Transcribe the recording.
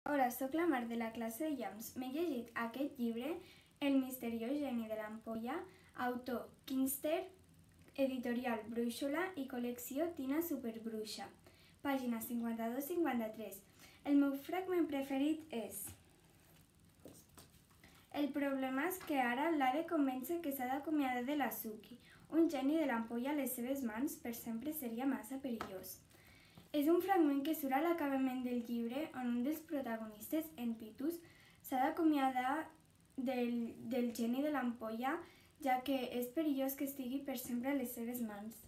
Hola, sóc la Mar de la classe de Llams. M'he llegit aquest llibre, El misteriós geni de l'ampolla, autor Kinster, editorial Brúixola i col·lecció Tina Superbruixa, pàgines 52-53. El meu fragment preferit és: el problema és que ara l'ha de convèncer que s'ha d'acomiadar de la Suki. Un geni de l'ampolla a les seves mans per sempre seria massa perillós. És un fragment que surt a l'acabament del llibre on un dels protagonistes, en Pitus, s'ha d'acomiadar del geni de l'ampolla, ja que és perillós que estigui per sempre a les seves mans.